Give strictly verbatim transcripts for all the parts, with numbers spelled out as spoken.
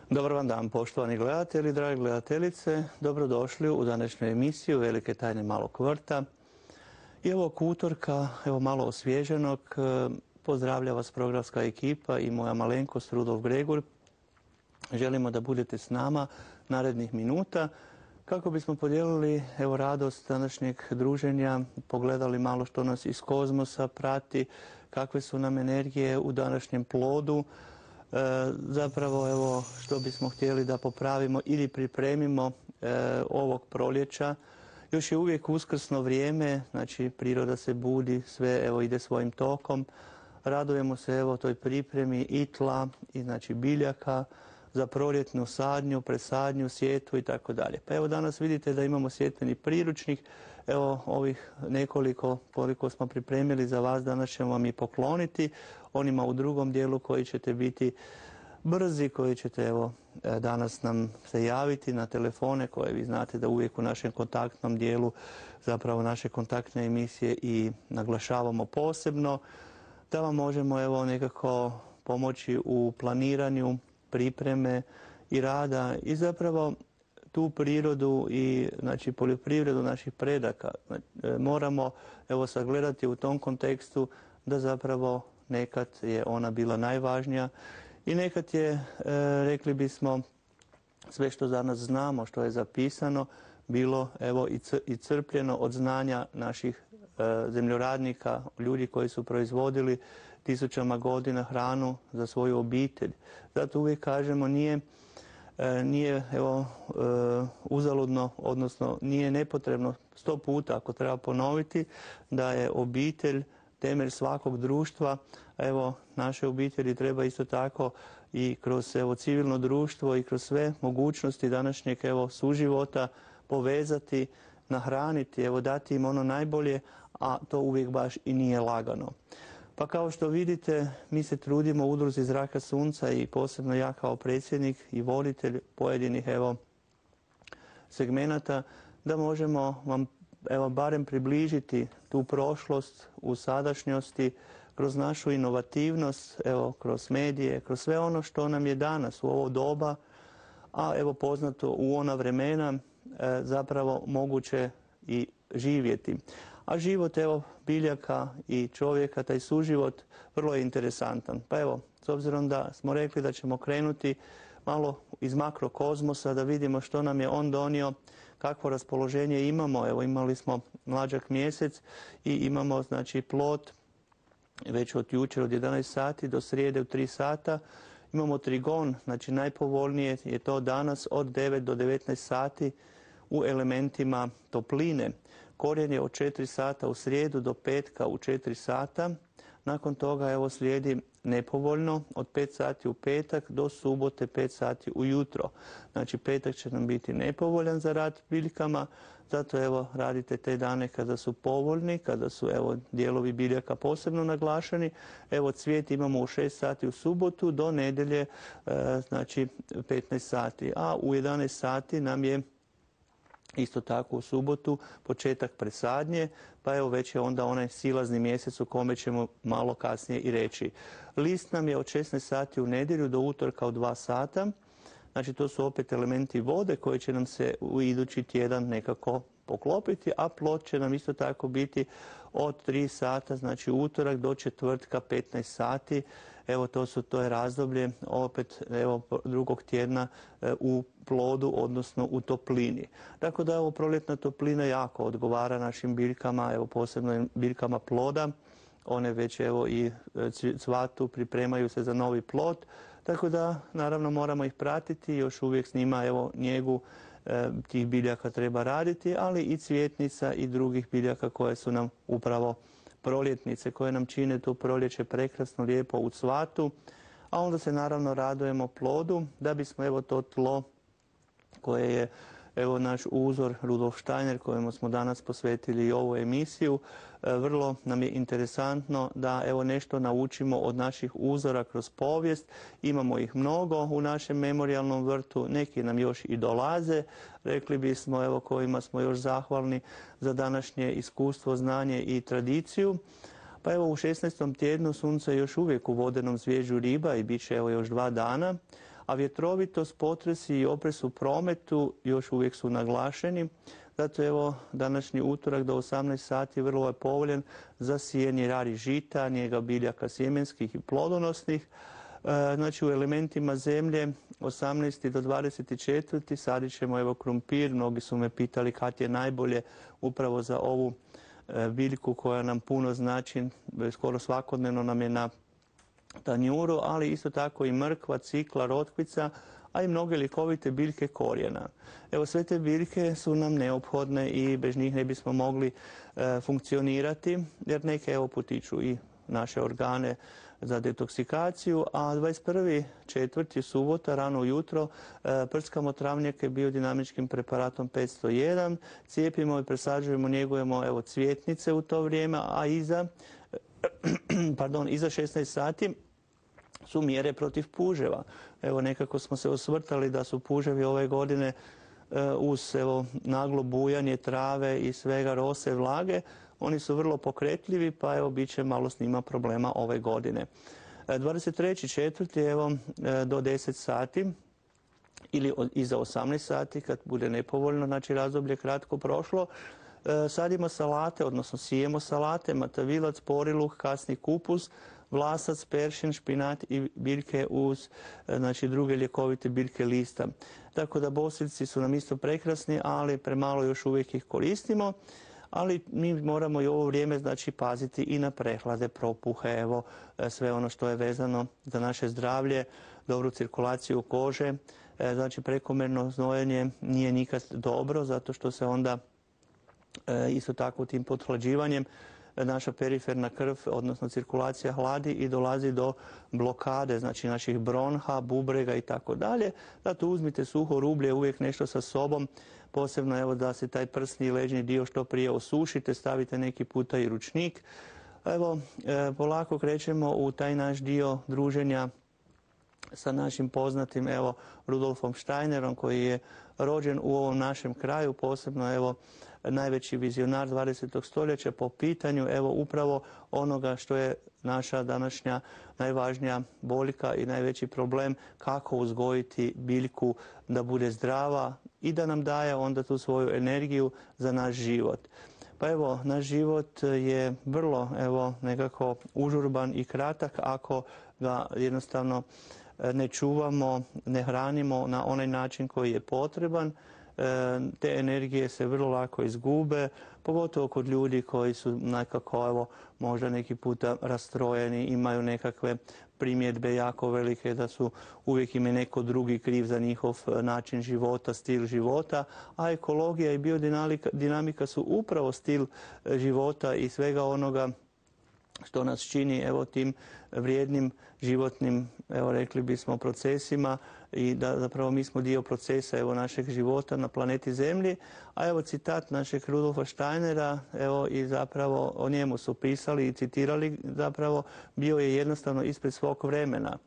Dobar vam dan, poštovani gledatelji, drage gledateljice. Dobrodošli u današnju emisiju Velike tajne malog vrta. I ovog utorka, evo malo osvježenog, pozdravlja vas programska ekipa i moja malenkost Rudolf Gregur. Želimo da budete s nama narednih minuta kako bismo podijelili evo radost današnjeg druženja, pogledali malo što nas iz kozmosa prati, kakve su nam energije u današnjem plodu. E, zapravo evo što bismo htjeli da popravimo ili pripremimo e, ovog proljeća. Još je uvijek uskrsno vrijeme, znači priroda se budi, sve evo ide svojim tokom. Radujemo se evo toj pripremi i tla i znači biljaka za proljetnu sadnju, presadnju, sjetvu i tako dalje. Pa evo danas vidite da imamo sjetveni priručnik. Evo ovih nekoliko koliko smo pripremili za vas danas ćemo vam i pokloniti. Onima u drugom dijelu koji ćete biti brzi, koji ćete evo danas nam se javiti na telefone koje vi znate da uvijek u našem kontaktnom dijelu zapravo naše kontaktne emisije i naglašavamo posebno. Da vam možemo evo nekako pomoći u planiranju pripreme i rada i zapravo tu prirodu i znači poljoprivredu naših predaka moramo evo sagledati u tom kontekstu da zapravo nekad je ona bila najvažnija i nekad je e, rekli bismo sve što za nas znamo, što je zapisano bilo evo i crpljeno od znanja naših e, zemljoradnika, ljudi koji su proizvodili tisućama godina hranu za svoju obitelj. Zato uvijek kažemo nije, e, nije evo, e, uzaludno, odnosno nije nepotrebno sto puta ako treba ponoviti da je obitelj temelj svakog društva. Evo, naše obitelji treba isto tako i kroz evo, civilno društvo i kroz sve mogućnosti današnjeg evo, suživota povezati, nahraniti, evo, dati im ono najbolje, a to uvijek baš i nije lagano. Pa kao što vidite, mi se trudimo u Udruzi Zraka Sunca i posebno ja kao predsjednik i voditelj pojedinih evo, segmenata da možemo vam evo, barem približiti tu prošlost u sadašnjosti kroz našu inovativnost, evo, kroz medije, kroz sve ono što nam je danas u ovo doba, a evo poznato u ona vremena e, zapravo moguće i živjeti. A život evo biljaka i čovjeka, taj suživot, vrlo je interesantan. Pa evo, s obzirom da smo rekli da ćemo krenuti malo iz makrokozmosa, da vidimo što nam je on donio, kakvo raspoloženje imamo. Evo imali smo mlađak mjesec i imamo znači plod već od jučer od jedanaest sati do srijede u tri sata. Imamo trigon, znači najpovoljnije je to danas od devet do devetnaest sati u elementima topline. Korijen je od četiri sata u srijedu do petka u četiri sata. Nakon toga evo slijedi nepovoljno od pet sati u petak do subote pet sati ujutro. Znači petak će nam biti nepovoljan za rad biljkama, zato evo radite te dane kada su povoljni, kada su evo dijelovi biljaka posebno naglašeni. Evo cvijet imamo u šest sati u subotu do nedjelje, e, znači petnaest sati, a u jedanaest sati nam je isto tako u subotu početak presadnje, pa evo već je onda onaj silazni mjesec u kome ćemo malo kasnije i reći. List nam je od šesnaest sati u nedjelju do utorka u dva sata, znači to su opet elementi vode koji će nam se u idući tjedan nekako poklopiti, a plod će nam isto tako biti od tri sata, znači utorak do četvrtka petnaest sati. Evo to su to je razdoblje opet evo drugog tjedna e, u plodu, odnosno u toplini. Tako da evo proljetna toplina jako odgovara našim biljkama, evo posebno biljkama ploda. One već evo i cvatu, pripremaju se za novi plod, tako da naravno moramo ih pratiti, još uvijek s njima evo njegu e, tih biljaka treba raditi, ali i cvjetnica i drugih biljaka koje su nam upravo proljetnice, koje nam čine tu proljeće prekrasno, lijepo u cvatu, a onda se naravno radujemo plodu da bismo evo to tlo koje je evo naš uzor Rudolf Steiner kojemu smo danas posvetili i ovu emisiju. Vrlo nam je interesantno da evo nešto naučimo od naših uzora kroz povijest. Imamo ih mnogo u našem memorijalnom vrtu, neki nam još i dolaze, rekli bismo evo kojima smo još zahvalni za današnje iskustvo, znanje i tradiciju. Pa evo u šesnaestom tjednu sunce je još uvijek u vodenom zvježđu riba i bit će evo još dva dana. a vjetrovitost, potresi i opres u prometu još uvijek su naglašeni. Zato evo današnji utorak do osamnaest sati vrlo je povoljan za sijanje rari žita, njega biljaka sjemenskih i plodonosnih. Znači u elementima zemlje osamnaesti do dvadeset četvrti sadit ćemo evo krumpir. Mnogi su me pitali kad je najbolje upravo za ovu biljku koja nam puno znači, skoro svakodnevno nam je na tanjuru, ali isto tako i mrkva, cikla, rotkvica, a i mnoge ljekovite biljke korijena. Evo sve te biljke su nam neophodne i bez njih ne bismo mogli e, funkcionirati, jer neke evo potiču i naše organe za detoksikaciju, a dvadeset prvi četvrti subota rano ujutro e, prskamo travnjake biodinamičkim preparatom petsto jedan, cijepimo i presađujemo, njegujemo evo cvjetnice u to vrijeme, a iza, pardon, iza šesnaest sati su mjere protiv puževa. Evo nekako smo se osvrtali da su puževi ove godine e, uz evo naglo bujanje trave i svega rose, vlage, oni su vrlo pokretljivi, pa evo bit će malo s njima problema ove godine. dvadeset treći četvrti evo do deset sati ili iza osamnaest sati kad bude nepovoljno, znači razdoblje kratko prošlo, sadimo salate, odnosno sijemo salate, matavilac, poriluh, kasni kupus, vlasac, peršin, špinat i biljke uz znači, druge ljekovite biljke lista. Tako da bosiljci su nam isto prekrasni, ali premalo još uvijek ih koristimo. Ali mi moramo i ovo vrijeme znači paziti i na prehlade, propuhe, evo sve ono što je vezano za naše zdravlje, dobru cirkulaciju kože. Znači prekomjerno znojenje nije nikad dobro, zato što se onda isto tako tim pothlađivanjem naša periferna krv, odnosno cirkulacija hladi i dolazi do blokade, znači naših bronha, bubrega i tako dalje. Zato uzmite suho rublje, uvijek nešto sa sobom, posebno evo da se taj prsni i leđni dio što prije osušite, stavite neki puta i ručnik. Evo, polako krećemo u taj naš dio druženja sa našim poznatim evo Rudolfom Steinerom, koji je rođen u ovom našem kraju, posebno evo najveći vizionar dvadesetog stoljeća po pitanju evo upravo onoga što je naša današnja najvažnija boljka i najveći problem, kako uzgojiti biljku da bude zdrava i da nam daje onda tu svoju energiju za naš život. Pa evo, naš život je vrlo evo nekako užurban i kratak ako ga jednostavno ne čuvamo, ne hranimo na onaj način koji je potreban. Te energije se vrlo lako izgube, pogotovo kod ljudi koji su nekako evo možda neki puta rastrojeni, imaju nekakve primjedbe jako velike da su uvijek im je neko drugi kriv za njihov način života, stil života, a ekologija i biodinamika su upravo stil života i svega onoga što nas čini evo tim vrijednim životnim, evo rekli bismo, procesima i da zapravo mi smo dio procesa evo našeg života na planeti Zemlji. A evo citat našeg Rudolfa Steinera, evo i zapravo o njemu su pisali i citirali, zapravo bio je jednostavno ispred svog vremena.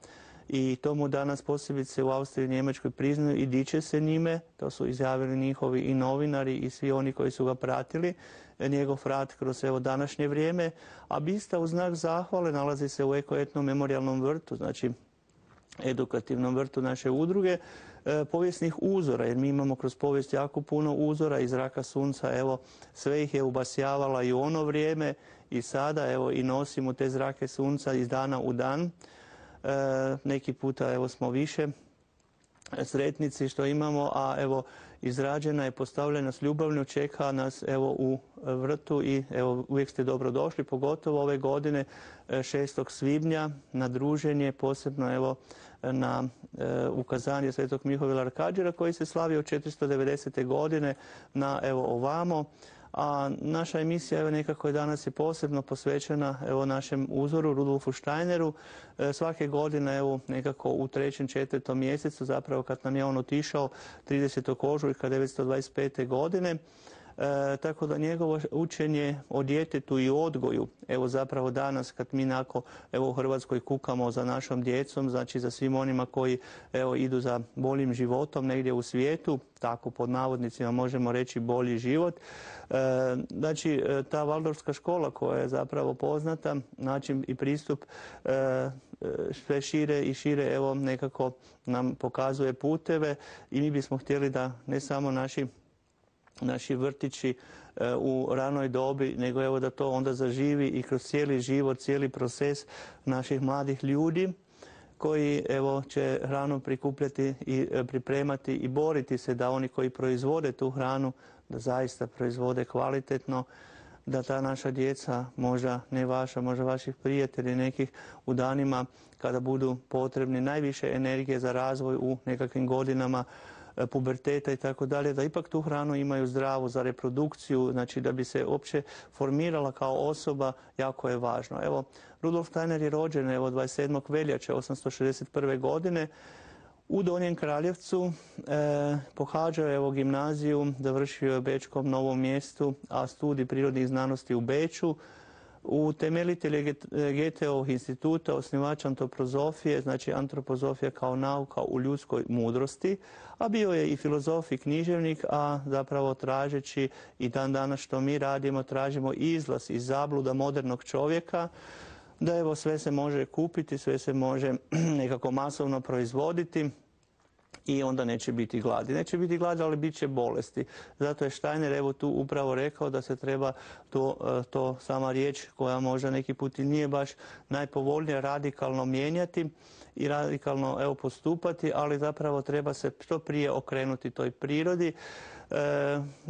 I to mu danas posebice u Austriji i Njemačkoj priznaju i diče se njime, to su izjavili njihovi i novinari i svi oni koji su ga pratili, njegov rad kroz evo današnje vrijeme, a bista u znak zahvale nalazi se u Eko-etno-memorijalnom vrtu, znači edukativnom vrtu naše udruge, e, povijesnih uzora, jer mi imamo kroz povijest jako puno uzora iz zraka sunca, evo sve ih je ubasjavala i u ono vrijeme i sada, evo i nosimo te zrake sunca iz dana u dan. E, neki puta evo smo više sretnici što imamo, a evo izrađena je, postavljena s ljubavlju, čeka nas evo u vrtu i evo uvijek ste dobro došli, pogotovo ove godine šestog svibnja na druženje, posebno evo na e, ukazanje svetog Mihovila Arkađera koji se slavi od četiristo devedesete godine na evo ovamo. A naša emisija evo nekako je danas je posebno posvećena evo našem uzoru Rudolfu Steineru. E, svake godine evo nekako u trećem, četvrtom mjesecu, zapravo kad nam je on otišao tridesetog ožujka devetsto dvadeset pete godine, E, tako da njegovo učenje o djetetu i odgoju, evo zapravo danas kad mi nako, evo u Hrvatskoj kukamo za našom djecom, znači za svim onima koji evo idu za boljim životom negdje u svijetu, tako pod navodnicima možemo reći bolji život. E, znači ta Valdorfska škola koja je zapravo poznata, način i pristup e, sve šire i šire evo nekako nam pokazuje puteve i mi bismo htjeli da ne samo naši naši vrtići e, u ranoj dobi, nego evo da to onda zaživi i kroz cijeli život, cijeli proces naših mladih ljudi koji evo će hranu prikupljati i e, pripremati i boriti se da oni koji proizvode tu hranu da zaista proizvode kvalitetno, da ta naša djeca, možda ne vaša, možda vaših prijatelji nekih u danima kada budu potrebni najviše energije za razvoj u nekakvim godinama puberteta i tako dalje, da ipak tu hranu imaju zdravu za reprodukciju, znači da bi se uopće formirala kao osoba, jako je važno. Evo, Rudolf Steiner je rođen evo dvadeset sedmog veljače osamsto šezdeset prve. godine u Donjem Kraljevcu, e, pohađao je evo gimnaziju, završio je u Bečkom Novom Mjestu, a studij prirodnih znanosti u Beču. Utemeljitelj je Goetheovog instituta, osnivač antropozofije, znači antropozofija kao nauka u ljudskoj mudrosti, a bio je i filozof i književnik, a zapravo tražeći i dan danas što mi radimo, tražimo izlaz iz zabluda modernog čovjeka, da evo sve se može kupiti, sve se može nekako masovno proizvoditi i onda neće biti gladi. Neće biti gladi, ali bit će bolesti. Zato je Steiner evo tu upravo rekao da se treba to, to sama riječ koja možda neki put i nije baš najpovoljnija radikalno mijenjati i radikalno evo postupati, ali zapravo treba se što prije okrenuti toj prirodi.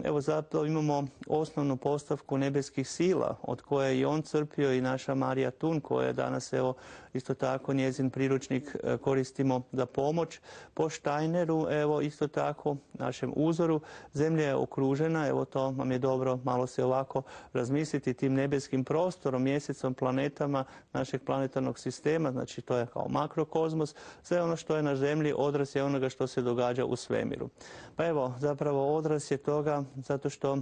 Evo zato imamo osnovnu postavku nebeskih sila od koje je i on crpio i naša Marija Thun koja je danas evo isto tako njezin priručnik koristimo za pomoć. Po Steineru evo isto tako našem uzoru zemlja je okružena, evo to vam je dobro malo se ovako razmisliti tim nebeskim prostorom, mjesecom, planetama našeg planetarnog sistema, znači to je kao makrokozmos, sve ono što je na zemlji odraz je onoga što se događa u svemiru. Pa evo zapravo odraz je toga zato što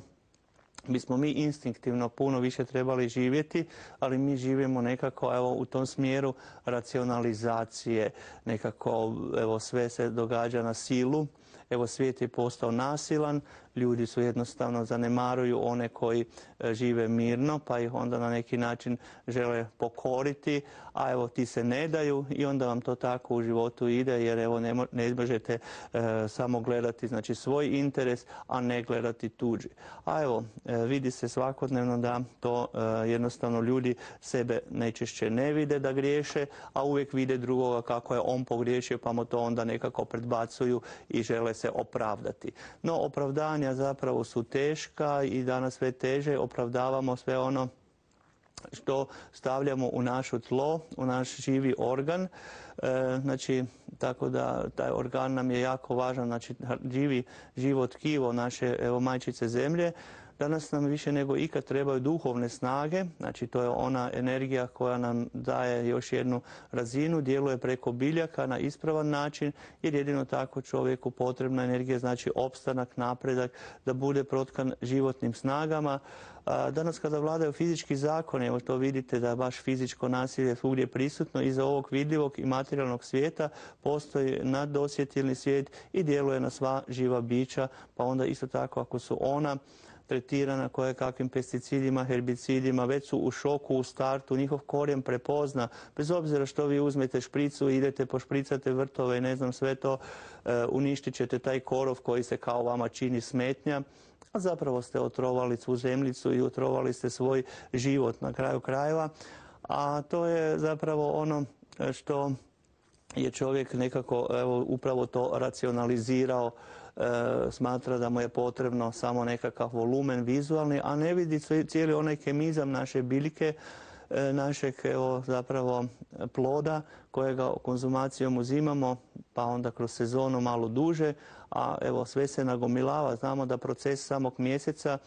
bismo mi instinktivno puno više trebali živjeti, ali mi živimo nekako evo u tom smjeru racionalizacije, nekako evo sve se događa na silu. Evo svijet je postao nasilan, ljudi su jednostavno zanemaruju one koji žive mirno, pa ih onda na neki način žele pokoriti, a evo ti se ne daju i onda vam to tako u životu ide, jer evo ne, ne možete e, samo gledati znači svoj interes, a ne gledati tuđi. A evo e, vidi se svakodnevno da to e, jednostavno ljudi sebe najčešće ne vide da griješe, a uvijek vide drugoga kako je on pogriješio, pa mu to onda nekako predbacuju i žele se opravdati. No opravdanja zapravo su teška i danas sve teže opravdavamo sve ono što stavljamo u naše tlo, u naš živi organ. E, znači, tako da taj organ nam je jako važan, znači živi živo tkivo naše evo, majčice zemlje. Danas nam više nego ikad trebaju duhovne snage, znači to je ona energija koja nam daje još jednu razinu, djeluje preko biljaka na ispravan način, jer jedino tako čovjeku potrebna energija, znači opstanak, napredak, da bude protkan životnim snagama. Danas kada vladaju fizički zakoni, evo to vidite da baš fizičko nasilje svugdje prisutno, iza ovog vidljivog i materijalnog svijeta postoji naddosjetilni svijet i djeluje na sva živa bića, pa onda isto tako ako su ona tretirana koje kakvim pesticidima, herbicidima, već su u šoku u startu, njihov korijen prepozna, bez obzira što vi uzmete špricu i idete pošpricate vrtove i ne znam sve to, e, uništit ćete taj korov koji se kao vama čini smetnja, a zapravo ste otrovali svu zemljicu i otrovali ste svoj život na kraju krajeva, a to je zapravo ono što je čovjek nekako evo, upravo to racionalizirao, E, smatra da mu je potrebno samo nekakav volumen vizualni, a ne vidi cijeli onaj kemizam naše biljke, e, našeg evo, zapravo ploda kojega konzumacijom uzimamo, pa onda kroz sezonu malo duže, a evo sve se nagomilava. Znamo da proces samog mjeseca,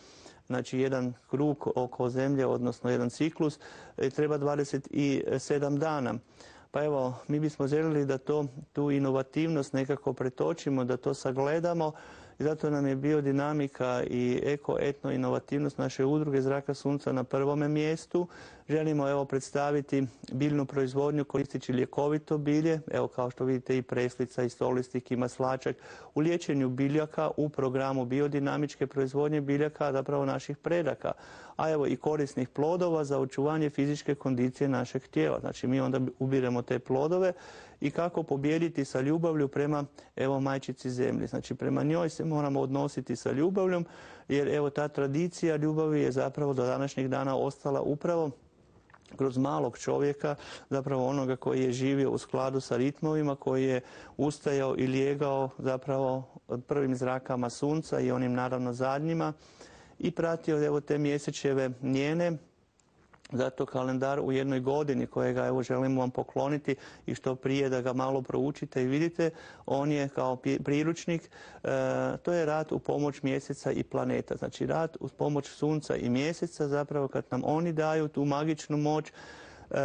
znači jedan krug oko zemlje, odnosno jedan ciklus, treba dvadeset sedam dana. Pa evo, mi bismo željeli da to, tu inovativnost nekako pretočimo, da to sagledamo, i zato nam je biodinamika i eko-etno inovativnost naše udruge Zraka sunca na prvome mjestu. Želimo evo predstaviti biljnu proizvodnju koristeći ljekovito bilje, evo kao što vidite i preslica i stolistik i maslačak u liječenju biljaka u programu biodinamičke proizvodnje biljaka, zapravo naših predaka, a evo i korisnih plodova za očuvanje fizičke kondicije našeg tijela. Znači mi onda ubiremo te plodove i kako pobijediti sa ljubavlju prema evo majčici zemlji. Znači prema njoj se moramo odnositi sa ljubavljom, jer evo ta tradicija ljubavi je zapravo do današnjeg dana ostala upravo kroz malog čovjeka, zapravo onoga koji je živio u skladu sa ritmovima, koji je ustajao i lijegao zapravo prvim zrakama sunca i onim naravno zadnjima i pratio evo te mjesečeve njene. Zato kalendar u jednoj godini kojega evo želimo vam pokloniti i što prije da ga malo proučite i vidite, on je kao priručnik, e, to je rad u pomoć mjeseca i planeta. Znači rad uz pomoć sunca i mjeseca, zapravo kad nam oni daju tu magičnu moć, e,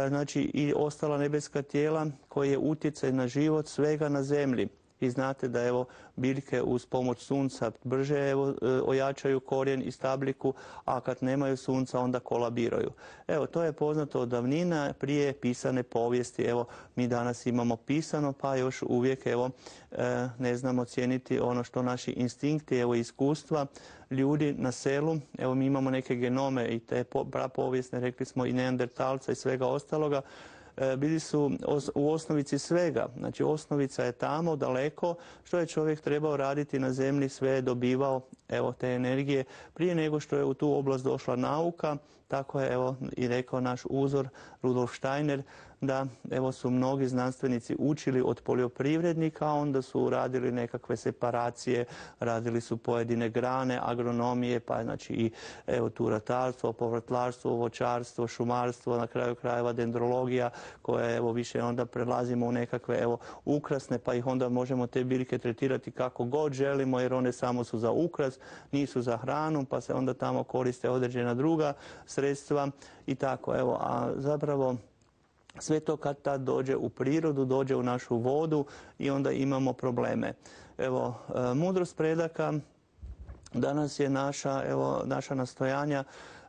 znači i ostala nebeska tijela koji je utjecaj na život svega na zemlji. Vi znate da evo biljke uz pomoć sunca brže evo, ojačaju korijen i stabliku, a kad nemaju sunca onda kolabiraju. Evo, to je poznato od davnina prije pisane povijesti. Evo, mi danas imamo pisano, pa još uvijek evo, ne znamo cijeniti ono što naši instinkti, evo iskustva ljudi na selu. Evo, mi imamo neke genome i te prapovijesne, rekli smo i neandertalca i svega ostaloga, bili su u osnovici svega. Znači osnovica je tamo daleko, što je čovjek trebao raditi na zemlji, sve je dobivao evo te energije prije nego što je u tu oblast došla nauka. Tako je evo i rekao naš uzor Rudolf Steiner, da evo su mnogi znanstvenici učili od poljoprivrednika, onda su radili nekakve separacije, radili su pojedine grane agronomije, pa znači i evo tu ratarstvo, povrtlarstvo, voćarstvo, šumarstvo, na kraju krajeva dendrologija, koje evo više onda prelazimo u nekakve evo ukrasne, pa ih onda možemo te biljke tretirati kako god želimo, jer one samo su za ukras, nisu za hranu, pa se onda tamo koriste određena druga sredstva i tako. Evo, a zapravo sve to kad tad dođe u prirodu, dođe u našu vodu i onda imamo probleme. Evo, mudrost predaka danas je naša, evo, naša nastojanja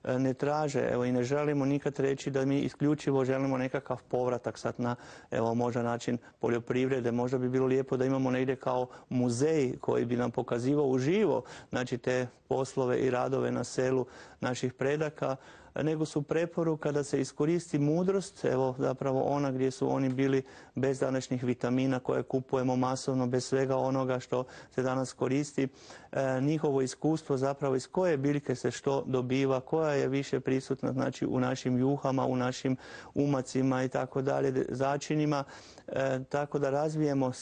ne traže, evo i ne želimo nikad reći da mi isključivo želimo nekakav povratak sad na, evo, možda način poljoprivrede. Možda bi bilo lijepo da imamo negdje kao muzej koji bi nam pokazivao uživo, znači te poslove i radove na selu naših predaka, nego su preporuka da se iskoristi mudrost, evo zapravo ona gdje su oni bili bez današnjih vitamina koje kupujemo masovno, bez svega onoga što se danas koristi, e, njihovo iskustvo zapravo iz koje biljke se što dobiva, koja je više prisutna znači u našim juhama, u našim umacima i tako dalje, začinima, e, tako da razvijemo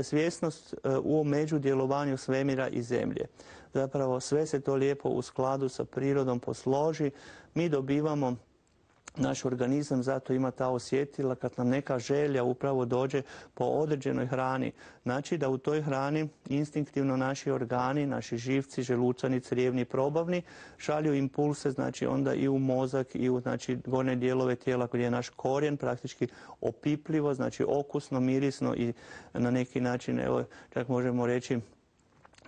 svjesnost e, u međudjelovanju svemira i zemlje. Zapravo sve se to lijepo u skladu sa prirodom posloži, mi dobivamo, naš organizam zato ima ta osjetila kad nam neka želja upravo dođe po određenoj hrani. Znači da u toj hrani instinktivno naši organi, naši živci, želučani, crijevni, probavni šalju impulse, znači onda i u mozak i u znači, gornje dijelove tijela gdje je naš korijen praktički opipljivo, znači okusno, mirisno i na neki način, evo, čak možemo reći,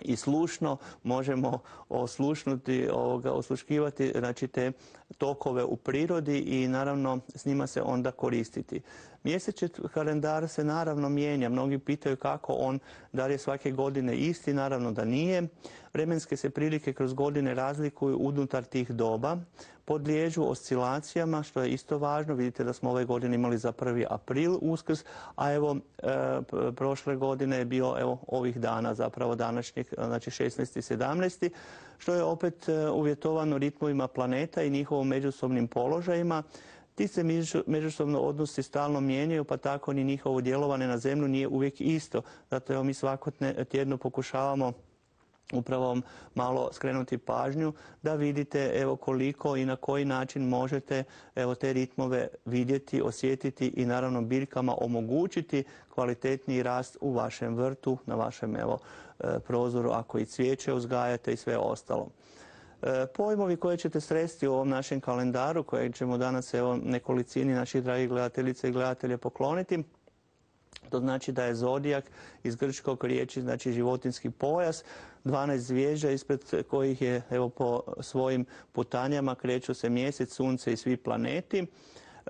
i slušno možemo oslušnuti, ovoga, osluškivati znači te tokove u prirodi i naravno s njima se onda koristiti. Mjesečni kalendar se naravno mijenja. Mnogi pitaju kako on, da li je svake godine isti, naravno da nije. Vremenske se prilike kroz godine razlikuju unutar tih doba, podliježu oscilacijama, što je isto važno. Vidite da smo ove godine imali za prvi april Uskrs, a evo e, prošle godine je bio evo ovih dana, zapravo današnjeg, znači šesnaesti i sedamnaesti što je opet e, uvjetovano ritmovima planeta i njihovom međusobnim položajima. Ti se međusobno odnosi stalno mijenjaju, pa tako ni njihovo djelovanje na zemlju nije uvijek isto. Zato evo mi svako tjedno pokušavamo upravo malo skrenuti pažnju da vidite evo koliko i na koji način možete evo te ritmove vidjeti, osjetiti i naravno biljkama omogućiti kvalitetniji rast u vašem vrtu, na vašem evo prozoru ako i cvijeće uzgajate i sve ostalo. Pojmovi koje ćete sresti u ovom našem kalendaru, kojeg ćemo danas evo nekolicini naših dragih gledateljica i gledatelja pokloniti, To znači da je zodijak iz grčkog riječi, znači životinjski pojas, dvanaest zvijezda ispred kojih je, evo, po svojim putanjama kreću se mjesec, sunce i svi planeti.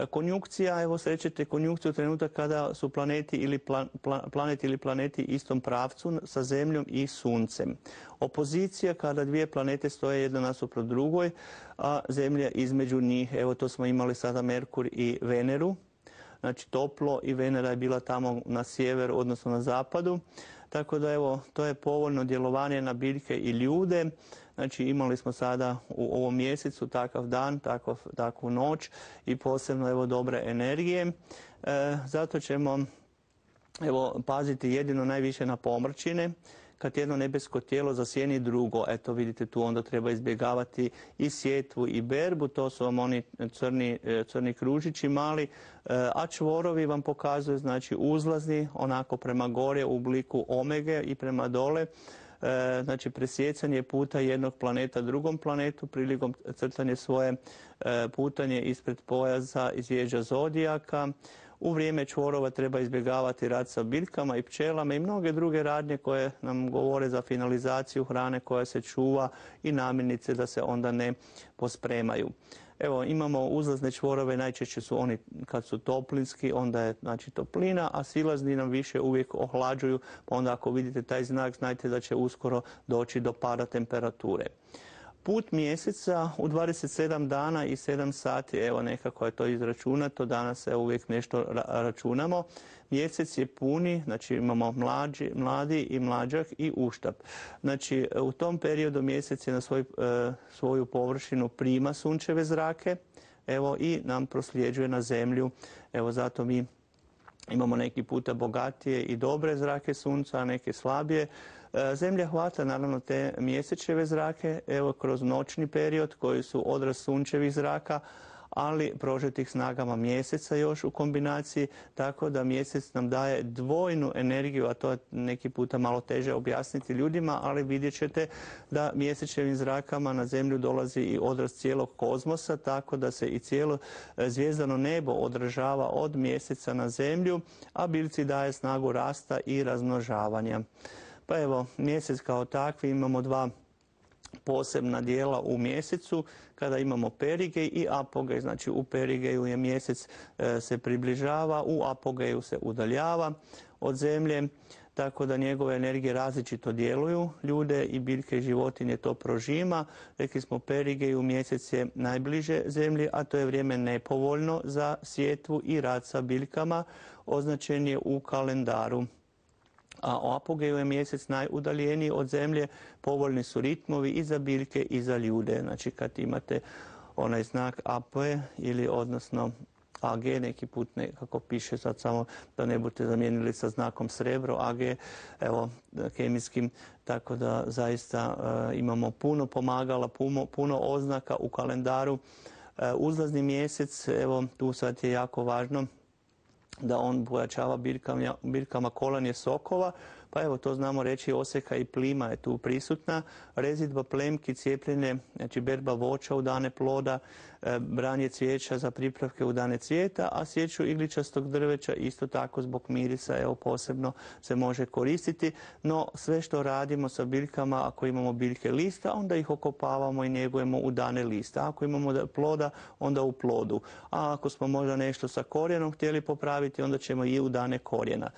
Konjunkcija, evo srećete konjunkciju trenutak kada su planeti ili plan, plan, planet ili planeti istom pravcu sa Zemljom i Suncem. Opozicija kada dvije planete stoje jedna nasuprot drugoj, a Zemlja između njih. Evo to smo imali sada Merkur i Veneru. Znači toplo i Venera je bila tamo na sjeveru, odnosno na zapadu. Tako da evo, to je povoljno djelovanje na biljke i ljude. Znači imali smo sada u ovom mjesecu takav dan, takav, takvu noć i posebno evo dobre energije. E, zato ćemo evo paziti jedino najviše na pomrčine. Kad jedno nebesko tijelo zasjeni drugo, eto vidite tu onda treba izbjegavati i sjetvu i berbu, to su vam oni crni, crni kružići mali, a čvorovi vam pokazuju znači uzlazni onako prema gore u obliku omege i prema dole. Znači presjecanje puta jednog planeta drugom planetu prilikom crtanje svoje putanje ispred pojasa i zvijezda zodijaka. U vrijeme čvorova treba izbjegavati rad sa biljkama i pčelama i mnoge druge radnje koje nam govore za finalizaciju hrane koja se čuva i namirnice da se onda ne pospremaju. Evo, imamo uzlazne čvorove, najčešće su oni kad su toplinski, onda je znači toplina, a silazni nam više uvijek ohlađuju, pa onda ako vidite taj znak, znajte da će uskoro doći do pada temperature. Put mjeseca u dvadeset sedam dana i sedam sati, evo nekako je to izračunato, danas se uvijek nešto računamo. Mjesec je puni, znači imamo mlađi, mladi i mlađak i uštap. Znači u tom periodu mjesec je na svoj, svoju površinu prima sunčeve zrake, evo i nam prosljeđuje na zemlju, evo zato mi imamo neki puta bogatije i dobre zrake sunca, a neke slabije. Zemlja hvata naravno te mjesečeve zrake, evo kroz noćni period koji su odraz sunčevih zraka, ali prožetih snagama mjeseca još u kombinaciji, tako da mjesec nam daje dvojnu energiju, a to je neki puta malo teže objasniti ljudima, ali vidjet ćete da mjesečevim zrakama na zemlju dolazi i odraz cijelog kozmosa, tako da se i cijelo zvijezdano nebo odražava od mjeseca na zemlju, a biljci daje snagu rasta i razmnožavanja. Pa evo, mjesec kao takvi imamo dva posebna dijela u mjesecu, kada imamo perigej i apogej. Znači u perigeju je mjesec e, se približava, u apogeju se udaljava od zemlje, tako da njegove energije različito djeluju. Ljude i biljke i životinje to prožima. Rekli smo perigeju mjesec je najbliže zemlji, a to je vrijeme nepovoljno za sjetvu i rad sa biljkama, označen je u kalendaru. A u apogeju je mjesec najudaljeniji od zemlje, povoljni su ritmovi i za biljke i za ljude. Znači kad imate onaj znak A P ili odnosno A G, neki put nekako piše, sad samo da ne budete zamijenili sa znakom srebro, A G, evo, kemijskim, tako da zaista e, imamo puno pomagala, puno, puno oznaka u kalendaru. E, uzlazni mjesec, evo, tu sad je jako važno da on pojačava biljkama, biljkama kolanje sokova, pa evo to znamo reći, oseka i plima je tu prisutna, rezidba plemki, cijepljenje, znači berba voća u dane ploda, branje cvijeća za pripravke u dane cvijeta, a sječu igličastog drveća isto tako zbog mirisa, evo posebno se može koristiti, no sve što radimo sa biljkama, ako imamo biljke lista, onda ih okopavamo i njegujemo u dane lista. Ako imamo ploda, onda u plodu. A ako smo možda nešto sa korijenom htjeli popraviti, onda ćemo i u dane korijena.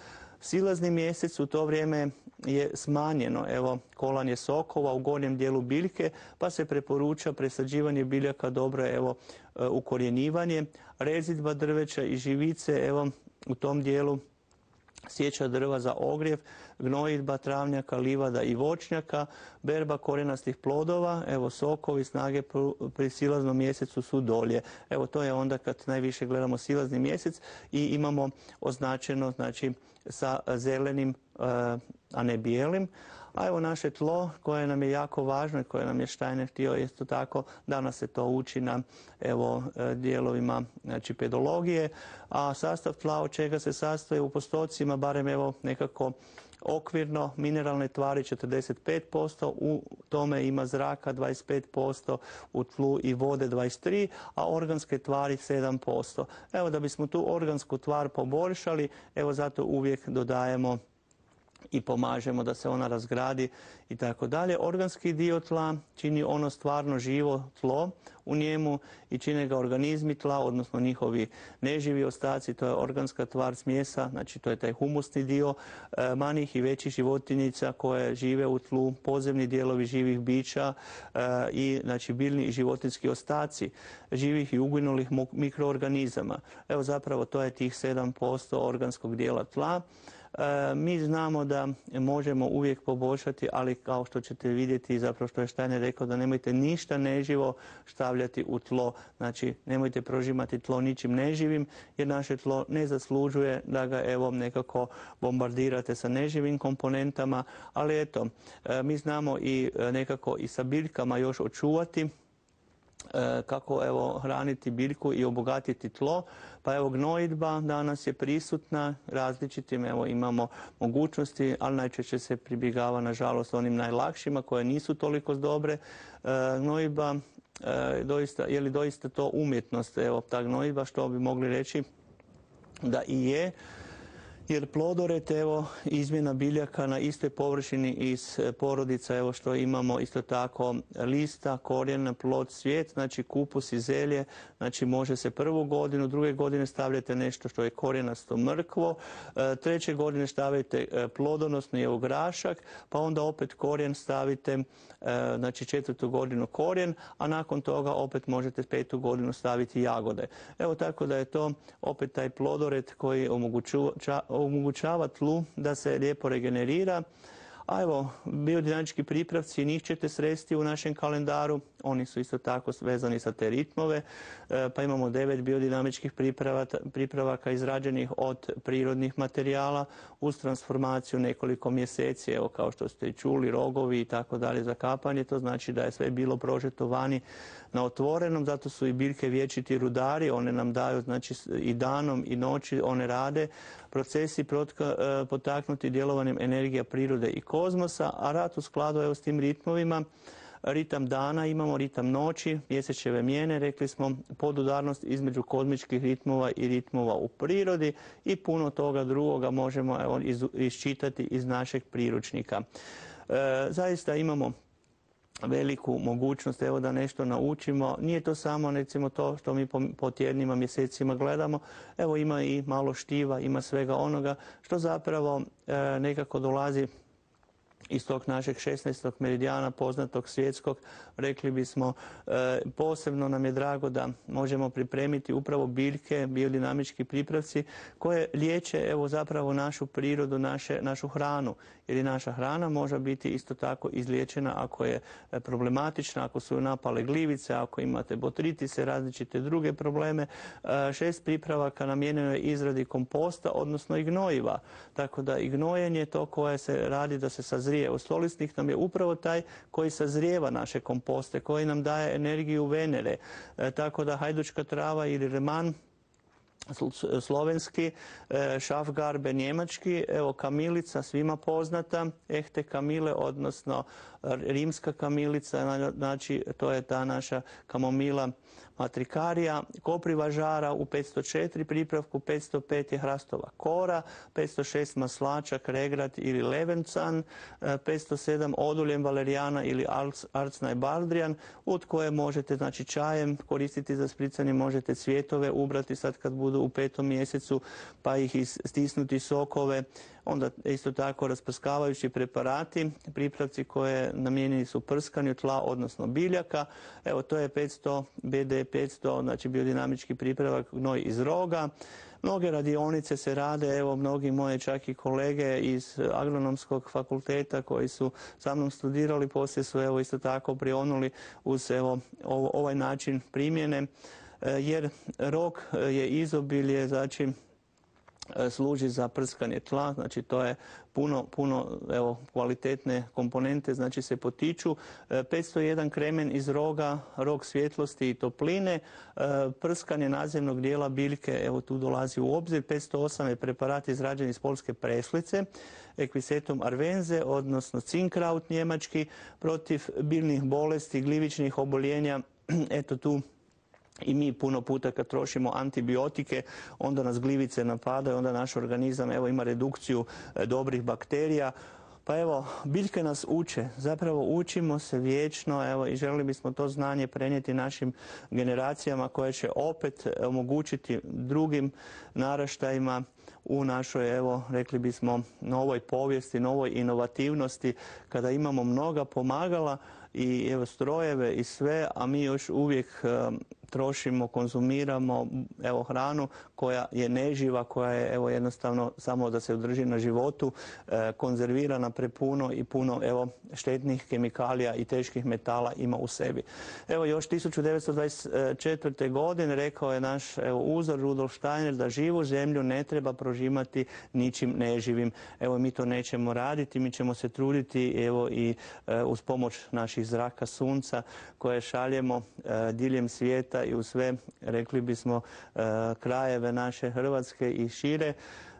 Silazni mjesec u to vrijeme je smanjeno, evo, kolanje sokova u gornjem dijelu biljke, pa se preporuča presađivanje biljaka, dobro je, evo, ukorjenjivanje, rezidba drveća i živice, evo, u tom dijelu sjeća drva za ogrjev, gnojidba travnjaka, livada i voćnjaka, berba korijenastih plodova, evo sokovi snage pri silaznom mjesecu su dolje. Evo to je onda kad najviše gledamo silazni mjesec i imamo označeno znači sa zelenim, a ne bijelim. A evo naše tlo koje nam je jako važno i koje nam je Steiner htio isto tako, danas se to uči na evo dijelovima znači pedologije, a sastav tla od čega se sastoji u postocima, barem evo nekako okvirno mineralne tvari četrdeset pet posto, u tome ima zraka dvadeset pet posto, u tlu i vode dvadeset tri posto, a organske tvari sedam posto. Evo, da bismo tu organsku tvar poboljšali, evo zato uvijek dodajemo i pomažemo da se ona razgradi i tako dalje. Organski dio tla čini ono stvarno živo tlo u njemu i čine ga organizmi tla, odnosno njihovi neživi ostaci, to je organska tvar smjesa, znači to je taj humusni dio e, manjih i većih životinjica koje žive u tlu, podzemni dijelovi živih bića e, i znači biljni i životinjski ostaci živih i uginulih mikroorganizama. Evo zapravo to je tih sedam posto organskog dijela tla. E, mi znamo da možemo uvijek poboljšati, ali kao što ćete vidjeti, zapravo što je Steiner rekao, da nemojte ništa neživo stavljati u tlo. Znači, nemojte prožimati tlo ničim neživim, jer naše tlo ne zaslužuje da ga evo nekako bombardirate sa neživim komponentama, ali eto, e, mi znamo i nekako i sa biljkama još očuvati kako evo hraniti biljku i obogatiti tlo. Pa evo gnojidba danas je prisutna različitim, evo imamo mogućnosti, ali najčešće se pribjegava nažalost onim najlakšima koje nisu toliko dobre. E, gnojidba, e, doista, je li doista to umjetnost, evo ta gnojidba, što bi mogli reći da i je. Jer plodoret, evo, izmjena biljaka na istoj površini iz porodica, evo što imamo isto tako lista, korijen, plod, cvijet, znači kupus i zelje, znači može se prvu godinu, druge godine stavljate nešto što je korijenasto mrkvo, treće godine stavite plodonosni evo grašak, pa onda opet korijen stavite, znači četvrtu godinu korijen, a nakon toga opet možete petu godinu staviti jagode. Evo tako da je to opet taj plodoret koji omogućava omogućava tlu da se lijepo regenerira. A evo, biodinamički pripravci, njih ćete sresti u našem kalendaru, oni su isto tako vezani sa te ritmove, pa imamo devet biodinamičkih pripravaka izrađenih od prirodnih materijala uz transformaciju nekoliko mjeseci, evo kao što ste i čuli, rogovi i tako dalje za kapanje, to znači da je sve bilo prožeto vani na otvorenom, zato su i biljke vječiti rudari, one nam daju znači i danom i noći one rade, procesi protka, potaknuti djelovanjem energija prirode i kozmosa, a rad u skladu evo s tim ritmovima, ritam dana imamo, ritam noći, mjesečeve mijene, rekli smo, podudarnost između kozmičkih ritmova i ritmova u prirodi i puno toga drugoga možemo evo, iz, iščitati iz našeg priručnika. E, zaista imamo veliku mogućnost evo da nešto naučimo. Nije to samo recimo to što mi po, po tjednima, mjesecima gledamo. Evo ima i malo štiva, ima svega onoga što zapravo e, nekako dolazi iz tog našeg šesnaestog meridijana poznatog svjetskog, rekli bismo, e, posebno nam je drago da možemo pripremiti upravo biljke, biodinamički pripravci koje liječe evo zapravo našu prirodu, naše, našu hranu. Jer i naša hrana može biti isto tako izliječena ako je problematična, ako su napale glivice, ako imate botritise, različite druge probleme. E, šest pripravaka namijenjeno je izradi komposta, odnosno i gnojiva. Tako da i gnojenje to koje se radi da se sazrije. Stolisnik nam je upravo taj koji sazrijeva naše komposte, koji nam daje energiju Venere. E, tako da hajdučka trava ili reman slovenski, šafgarbe njemački, evo kamilica svima poznata, ehte kamile, odnosno rimska kamilica, znači to je ta naša kamomila matrikarija, kopriva žara u petsto četiri pripravku, petsto pet je hrastova kora, petsto šest maslačak, regrat ili levencan, petsto sedam oduljem valerijana ili arcnaj baldrijan, od koje možete znači čajem koristiti za spricanje, možete cvjetove ubrati sad kad budu u petom mjesecu, pa ih stisnuti sokove, onda isto tako rasprskavajući preparati, pripravci koje namijenjeni su prskanju tla, odnosno biljaka. Evo to je petsto B D petsto, znači biodinamički pripravak gnoj iz roga. Mnoge radionice se rade, evo mnogi moje čak i kolege iz agronomskog fakulteta koji su sa mnom studirali, poslije su evo isto tako prionuli uz evo ovaj način primjene, jer rog je izobilje, znači služi za prskanje tla, znači to je puno, puno evo, kvalitetne komponente, znači se potiču. petsto jedan kremen iz roga, rog svjetlosti i topline, prskanje nadzemnog dijela biljke, evo tu dolazi u obzir. petsto osam je preparat izrađen iz poljske preslice, Equisetum arvense, odnosno cinkraut njemački, protiv biljnih bolesti, glivičnih oboljenja, eto tu i mi puno puta kad trošimo antibiotike, onda nas glivice napadaju, onda naš organizam evo, ima redukciju e, dobrih bakterija. Pa evo, biljke nas uče, zapravo učimo se vječno, evo, i želili bismo to znanje prenijeti našim generacijama koje će opet omogućiti drugim naraštajima u našoj, evo, rekli bismo, novoj povijesti, novoj inovativnosti, kada imamo mnoga pomagala i evo, strojeve i sve, a mi još uvijek e, trošimo, konzumiramo evo, hranu koja je neživa, koja je evo, jednostavno samo da se održi na životu, e, konzervirana prepuno i puno evo, štetnih kemikalija i teških metala ima u sebi. Evo još tisuću devetsto dvadeset četvrte. godine rekao je naš evo, uzor Rudolf Steiner da živu zemlju ne treba prožimati ničim neživim. Evo mi to nećemo raditi, mi ćemo se truditi evo, i e, uz pomoć naših zraka sunca koje šaljemo e, diljem svijeta i u sve, rekli bismo, e, krajeve naše Hrvatske i šire.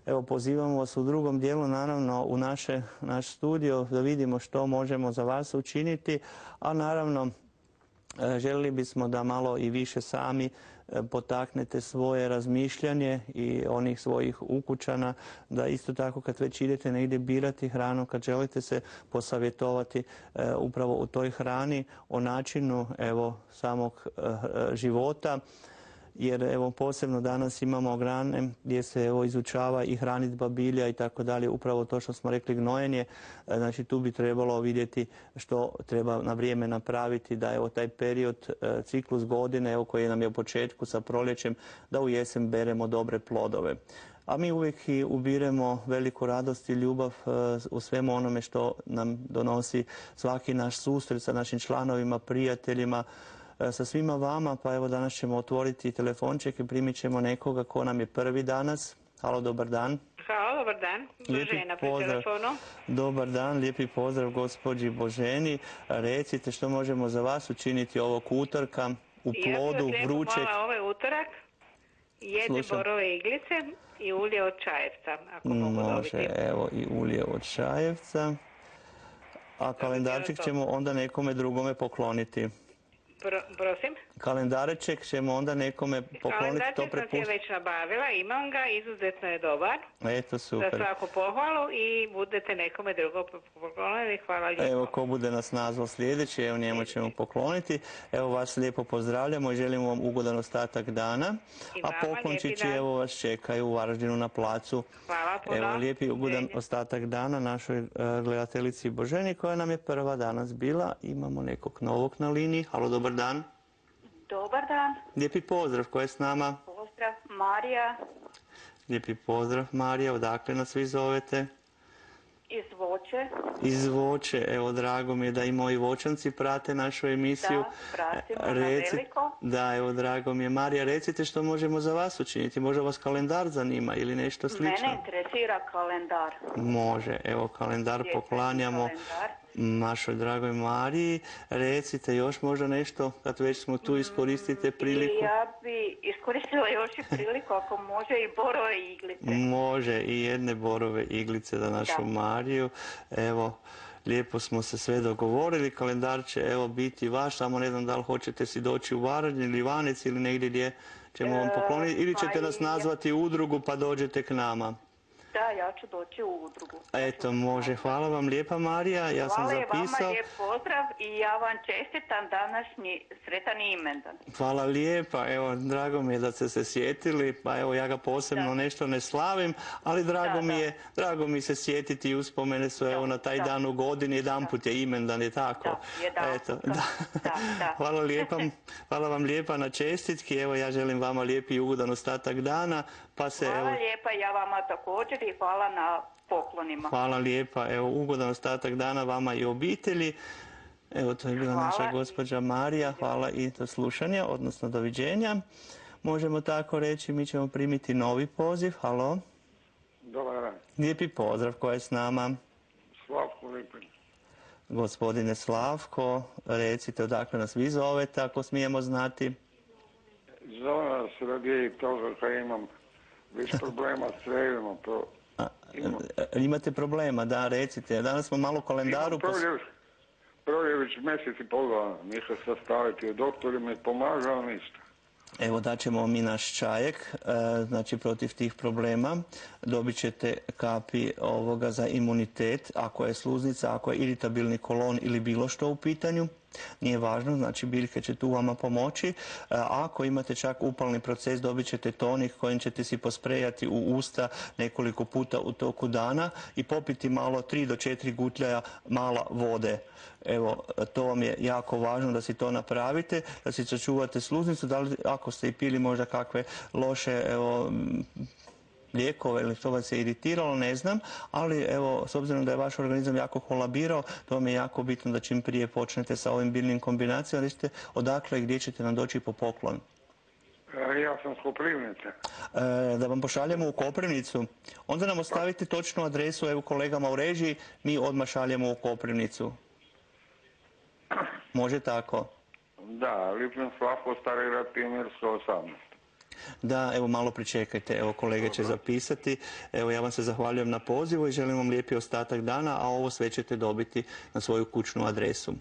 Evo, pozivamo vas u drugom dijelu, naravno, u naše, naš studio da vidimo što možemo za vas učiniti, a naravno, e, željeli bismo da malo i više sami e, potaknete svoje razmišljanje i onih svojih ukućana, da isto tako kad već idete negdje birati hranu, kad želite se posavjetovati e, upravo u toj hrani, o načinu evo, samog e, života, jer evo posebno danas imamo grane gdje se evo izučava i hranidba bilja i tako dalje, upravo to što smo rekli gnojenje, znači tu bi trebalo vidjeti što treba na vrijeme napraviti da evo taj period, ciklus godine evo koji nam je u početku sa proljećem, da u jesen beremo dobre plodove. A mi uvijek i ubiremo veliku radost i ljubav u svemu onome što nam donosi svaki naš susret sa našim članovima, prijateljima, sa svima vama, pa evo danas ćemo otvoriti telefonček i primit ćemo nekoga ko nam je prvi danas. Halo, dobar dan. Halo, dobar dan. Božena pri telefonu. Dobar dan, lijepi pozdrav gospođi Boženi. Recite što možemo za vas učiniti ovog utorka u plodu ja vrućeg. Ja bih vas ovaj utorak jedne borove iglice i ulje od čajevca, ako mogu dobiti. Može, evo i ulje od čajevca. A kalendarček ćemo onda nekome drugome pokloniti. Pro, prosim? Kalendareček ćemo onda nekome pokloniti, to prepustiti. Kalendarček sam se već nabavila, imam ga, izuzetno je dobar. Eto, super. Za svaku pohvalu i budete nekome drugo poklonili, hvala lijepo. Evo, ko bude nas nazval sljedeći, evo njemu ćemo pokloniti. Evo vas lijepo pozdravljamo i želimo vam ugodan ostatak dana. I a poklončići evo vas čekaju u Varaždinu na placu. Hvala puno. Evo lijepi ugodan ostatak dana našoj uh, gledateljici Boženi koja nam je prva danas bila. Imamo nekog novog na liniji. Halo, dobar dan. Dobar dan. Lijepi pozdrav, ko je s nama? Pozdrav, Marija. Lijepi pozdrav, Marija. Odakle nas vi zovete? Iz Voće. Iz Voće. Evo, drago mi je da i moji voćanci prate našu emisiju. Da, pratimo Reci... na veliko. Da, evo, drago mi je. Marija, recite što možemo za vas učiniti. Možda vas kalendar zanima ili nešto slično? Mene interesira kalendar. Može. Evo, kalendar Gdje poklanjamo kalendar? našoj dragoj Mariji. Recite još možda nešto, kad već smo tu, iskoristite priliku. I ja bi iskoristila još i priliku, ako može, i borove iglice. Može, i jedne borove iglice za našu da. Mariju. Evo, lijepo smo se sve dogovorili. Kalendar će evo biti vaš, samo ne znam da li hoćete si doći u Varaždin ili Ivanec ili negdje gdje ćemo vam pokloniti, ili ćete nas nazvati u udrugu pa dođete k nama. Da, ja ću doći u udrugu. Eto, može. Hvala vam lijepa, Marija. Ja sam zapisao. Hvala vama, lijep pozdrav i ja vam čestitam današnji sretan imendan. Hvala lijepa. Evo, drago mi je da ste se sjetili. Pa evo, ja ga posebno da. nešto ne slavim, ali drago da, mi je, da. drago mi se sjetiti i uspomene su evo na taj da. dan u godini. Jedanput je imendan, je tako? Da, jedan. Eto, da. Da, da. Hvala lijepa. Hvala vam lijepa na čestitki. Evo, ja želim vama lijepi i ugodan ostatak dana. Pa se, hvala evo... lijepa, ja vama također i hvala na poklonima. Hvala lijepa, evo ugodan ostatak dana vama i obitelji. Evo to je bila hvala. naša gospođa Marija, hvala i do slušanja, odnosno doviđenja. Možemo tako reći, mi ćemo primiti novi poziv, halo. Dobar dan. Lijepi pozdrav, ko je s nama? Slavko Lipin. Gospodine Slavko, recite odakle nas vi zovete, ako smijemo znati. Zove nas radi toga kad imam više problema s crevima. To imam. Imate problema, da, recite. Danas smo malo u kalendaru... Imam proljev, proljević mjesec i pol dana. Ništa sad staviti. Doktor mi pomaže, ali ništa. Evo daćemo mi naš čajek, znači protiv tih problema. Dobit ćete kapi ovoga za imunitet, ako je sluznica, ako je iritabilni kolon ili bilo što u pitanju. Nije važno, znači biljke će tu vama pomoći. Ako imate čak upalni proces, dobit ćete tonik kojim ćete si posprejati u usta nekoliko puta u toku dana i popiti malo tri do četiri gutljaja mala vode. Evo, to vam je jako važno da si to napravite, da si sačuvate sluznicu, da li ako ste i pili možda kakve loše, evo, lijekove ili to vas je iritiralo, ne znam, ali evo, s obzirom da je vaš organizam jako kolabirao, to vam je jako bitno da čim prije počnete sa ovim biljnim kombinacijama, da ćete odakle i gdje ćete nam doći po poklon. Ja sam s Koprivnice. E, da vam pošaljemo u Koprivnicu. Onda nam ostavite točnu adresu, evo kolegama u režiji, mi odmah šaljemo u Koprivnicu. Može tako? Da, Lipin Slavko, Stari grad, Pionirska osamnaest. Da, evo malo pričekajte, evo kolege će zapisati. Evo ja vam se zahvaljujem na pozivu i želim vam lijepi ostatak dana, a ovo sve ćete dobiti na svoju kućnu adresu.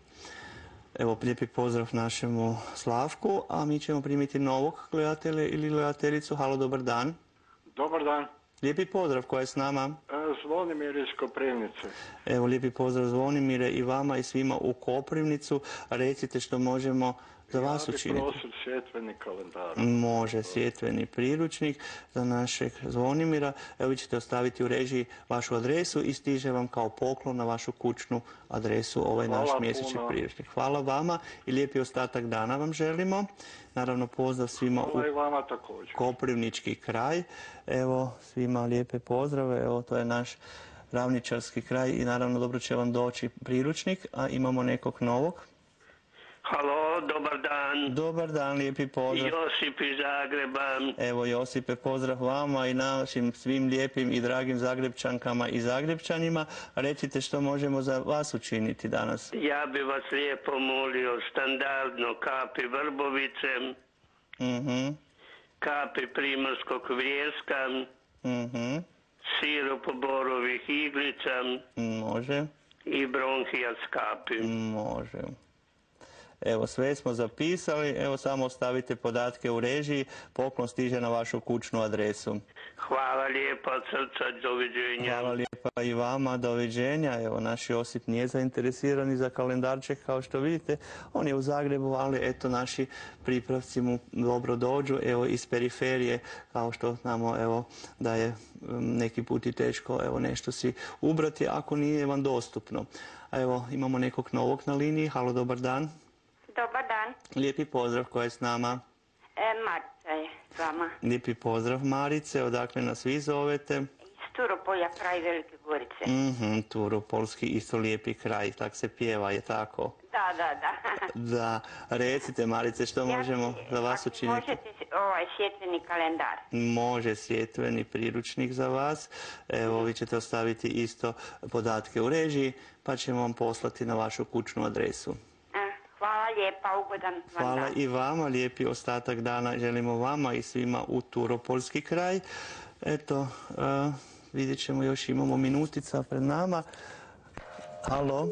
Evo lijepi pozdrav našemu Slavku, a mi ćemo primiti novog gledatelja ili gledateljicu. Halo, dobar dan. Dobar dan. Lijepi pozdrav, ko je s nama? Zvonimir iz Koprivnice. Evo lijepi pozdrav Zvonimire i vama i svima u Koprivnicu. Recite što možemo za vas učiniti. Ja bih prosio sjetveni kalendar. Može, sjetveni priručnik za našeg Zvonimira. Evo vi ćete ostaviti u režiji vašu adresu i stiže vam kao poklon na vašu kućnu adresu ovaj naš mjesečni priručnik. Hvala vama i lijepi ostatak dana vam želimo. Naravno pozdrav svima u Koprivnički kraj. Evo svima lijepe pozdrave. Evo to je naš ravničarski kraj i naravno dobro će vam doći priručnik, a imamo nekog novog. Halo, dobar dan. Dobar dan, lijepi pozdrav. Josip iz Zagreba. Evo Josipe, pozdrav vama i našim svim lijepim i dragim Zagrebčankama i Zagrebčanima. Recite što možemo za vas učiniti danas. Ja bi vas lijepo molio standardno kapi vrbovice, uh-huh. kapi primorskog vrijeska, uh-huh. sirup borovih iglica. Može. I bronhijat kapi. Može. Evo, sve smo zapisali, evo samo ostavite podatke u režiji, poklon stiže na vašu kućnu adresu. Hvala lijepa od srca, doviđenja. Hvala lijepa i vama, doviđenja. Evo, naš Josip nije zainteresiran za kalendarček, kao što vidite, on je u Zagrebu, ali eto, naši pripravci mu dobro dođu, evo, iz periferije, kao što znamo, evo, da je neki put i teško, evo, nešto si ubrati, ako nije vam dostupno. A evo, imamo nekog novog na liniji, halo, dobar dan. Dobar dan. Lijepi pozdrav, ko je s nama? E, Marica je s vama. Lijepi pozdrav, Marice, odakle nas vi zovete? Iz Turopolja, kraj Velike Gorice. Mhm, Turopolski, isto lijepi kraj, tak se pjeva, je tako? Da, da, da. Da, recite Marice, što možemo za vas učiniti? Možete ovaj sjetveni kalendar. Može sjetveni priručnik za vas. Evo, vi ćete ostaviti isto podatke u režiji, pa ćemo vam poslati na vašu kućnu adresu. Hvala lijepa, ugodan vam dan. Hvala i vama, lijepi ostatak dana želimo vama i svima u Turopolski kraj. Eto, uh, vidjet ćemo, još imamo minutica pred nama. Halo,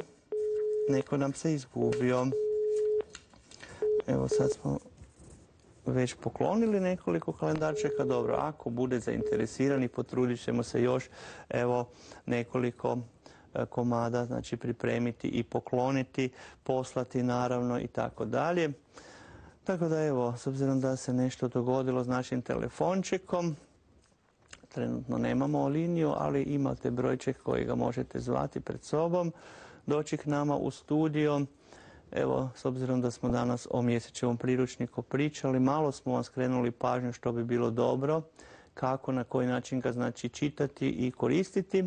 neko nam se izgubio. Evo sad smo već poklonili nekoliko kalendarčeka. Dobro, ako bude zainteresirani, potrudit ćemo se još evo nekoliko komada, znači pripremiti i pokloniti, poslati naravno i tako dalje. Tako da evo, s obzirom da se nešto dogodilo s našim telefončekom, trenutno nemamo liniju, ali imate brojček koji ga možete zvati pred sobom, doći k nama u studio. Evo, s obzirom da smo danas o mjesečevom priručniku pričali, malo smo vam skrenuli pažnju što bi bilo dobro, kako, na koji način ga znači čitati i koristiti.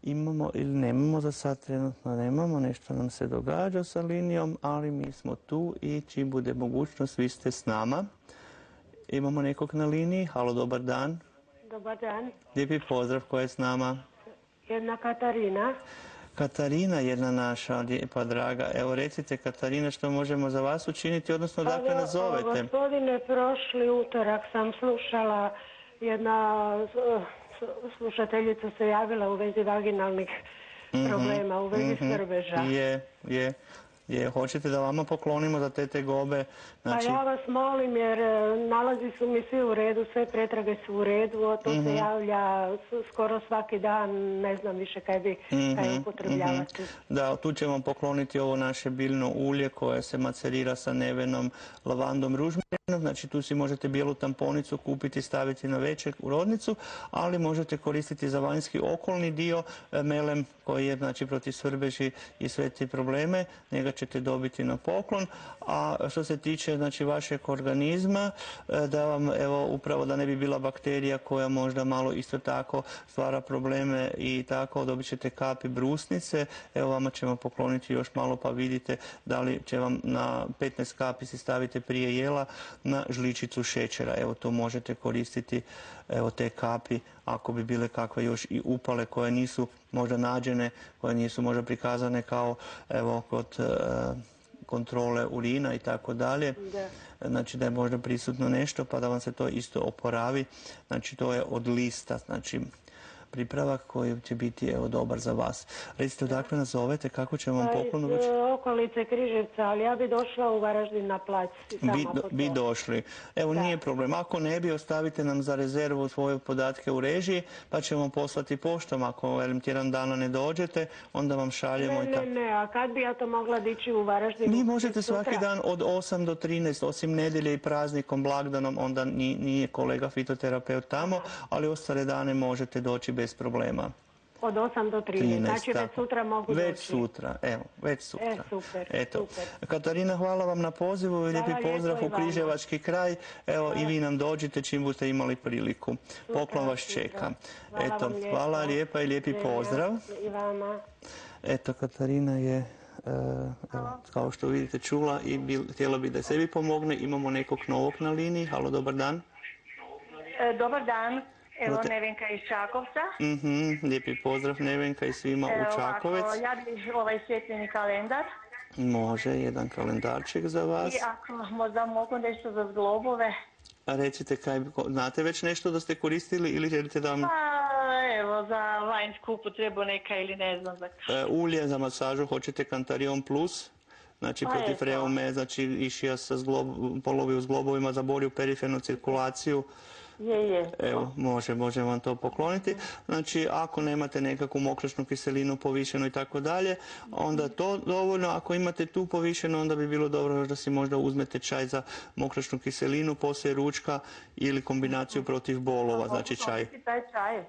Imamo ili nemamo, za sad trenutno nemamo, nešto nam se događa sa linijom, ali mi smo tu i čim bude mogućnost, vi ste s nama. Imamo nekog na liniji, halo, dobar dan. Dobar dan. Lijepi pozdrav, ko je s nama? Jedna Katarina. Katarina, jedna naša lijepa draga. Evo recite Katarina što možemo za vas učiniti, odnosno dakle nas zovete. Gospodine, prošli utorak sam slušala, jedna slušateljica se javila u vezi vaginalnih problema, u vezi svrbeža. Je, je. Je, hoćete da vama poklonimo za te tegobe? Znači... Pa ja vas molim jer nalazi su mi svi u redu, sve pretrage su u redu, to se javlja skoro svaki dan, ne znam više kaj bi kaj upotrebljavati. Da, tu ćemo pokloniti ovo naše biljno ulje koje se macerira sa nevenom, lavandom, ružmarinom. Znači tu si možete bijelu tamponicu kupiti, staviti na večer u rodnicu, ali možete koristiti za vanjski okolni dio melem koji je znači protiv svrbeži i sve te probleme. Njega ćete dobiti na poklon. A što se tiče znači vašeg organizma, da vam evo upravo da ne bi bila bakterija koja možda malo isto tako stvara probleme i tako, dobit ćete kapi brusnice. Evo vama ćemo pokloniti još malo pa vidite da li će vam na petnaest kapi si stavite prije jela na žličicu šećera. Evo to možete koristiti, evo te kapi ako bi bile kakve još i upale koje nisu možda nađene, koje nisu možda prikazane kao evo kod e, kontrole urina i tako dalje. Znači da je možda prisutno nešto pa da vam se to isto oporavi. Znači to je od lista, znači pripravak koji će biti evo dobar za vas. Recite odakle nas zovete, kako ćemo vam poklon uručiti? Okolice Križevca, ali ja bi došla u Varaždin na plac. Bi, bi došli. Evo da. Nije problem. Ako ne bi, ostavite nam za rezervu svoje podatke u režiji, pa ćemo poslati poštom. Ako velim tjedan dana ne dođete, onda vam šaljemo. Ne, i tako. ne, ne, a kad bi ja to mogla dići u Varaždinu? Mi možete svaki dan od osam do trinaest, osim nedjelje i praznikom, blagdanom, onda nije kolega fitoterapeut tamo, ali ostale dane možete doći bez problema. Od osam do trinaest, znači već sutra mogu doći. Već sutra, evo, već sutra. E, super, Eto. super. Katarina, hvala vam na pozivu i lijepi pozdrav u Križevački kraj. Evo i vi nam dođite čim budete imali priliku. Poklon vas čeka. Hvala Eto, vam hvala lijepa i lijepi pozdrav. I vama. Eto, Katarina je, evo, kao što vidite, čula i htjela bi da sebi pomogne. Imamo nekog novog na liniji. Halo, dobar dan. E, dobar dan. Evo Nevenka iz Čakovca. Mhm, lijepi pozdrav Nevenka i svima u Čakovec. Ovako, ja bih ovaj svjetleni kalendar. Može, jedan kalendarček za vas. I ako možda mogu nešto za zglobove. A recite, kaj, znate već nešto da ste koristili ili želite da vam... Pa, evo, za vanjsku upotrebu neka ili ne znam. Za... E, ulje za masažu, hoćete Cantarion Plus? Znači pa protiv reume, znači išija sa zglob, polovi u zglobovima za bolju perifernu cirkulaciju. Je, je. Evo, može, može vam to pokloniti. Znači, ako nemate nekakvu mokračnu kiselinu povišenu i tako dalje, onda to dovoljno. Ako imate tu povišenu, onda bi bilo dobro da si možda uzmete čaj za mokračnu kiselinu, poslije ručka ili kombinaciju protiv bolova, znači čaj. Taj čaj.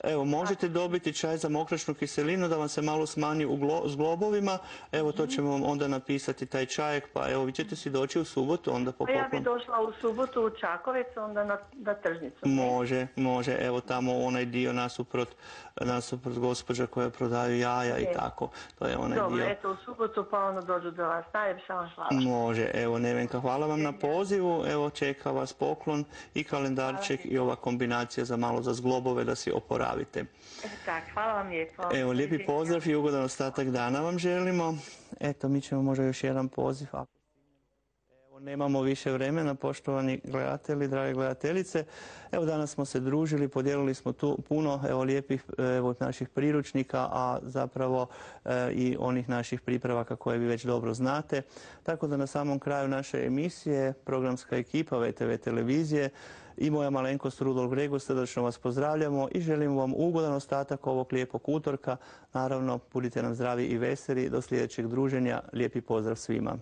Evo, možete dobiti čaj za mokračnu kiselinu da vam se malo smanji u glo, zglobovima. Evo, to ćemo vam onda napisati taj čajek, pa evo, vi ćete si doći u subotu, onda po poklon. Ja bi došla u subotu u Čakovec, onda na, na tržnicu. Može, može, evo tamo onaj dio nasuprot, nasuprot gospođa koja prodaju jaja i tako. To je onaj Dobro, dio. eto, u subotu pa ono dođu do vas. Najljepša vam hvala. Može, evo Nevenka, hvala vam na pozivu. Evo, čeka vas poklon i kalendarček i ova kombinacija za malo za zglobove da si oporavite. Tak, hvala vam lijepo. Evo, lijepi pozdrav i ugodan ostatak dana vam želimo. Eto, mi ćemo možda još jedan poziv. Evo, nemamo više vremena, poštovani gledatelji, drage gledateljice. Evo, danas smo se družili, podijelili smo tu puno evo, lijepih evo, naših priručnika, a zapravo e, i onih naših pripravaka koje vi već dobro znate. Tako da na samom kraju naše emisije, programska ekipa V T V televizije i moja malenkost Rudolf Gregor, srdačno vas pozdravljamo i želimo vam ugodan ostatak ovog lijepog utorka. Naravno, budite nam zdravi i veseli. Do sljedećeg druženja. Lijepi pozdrav svima.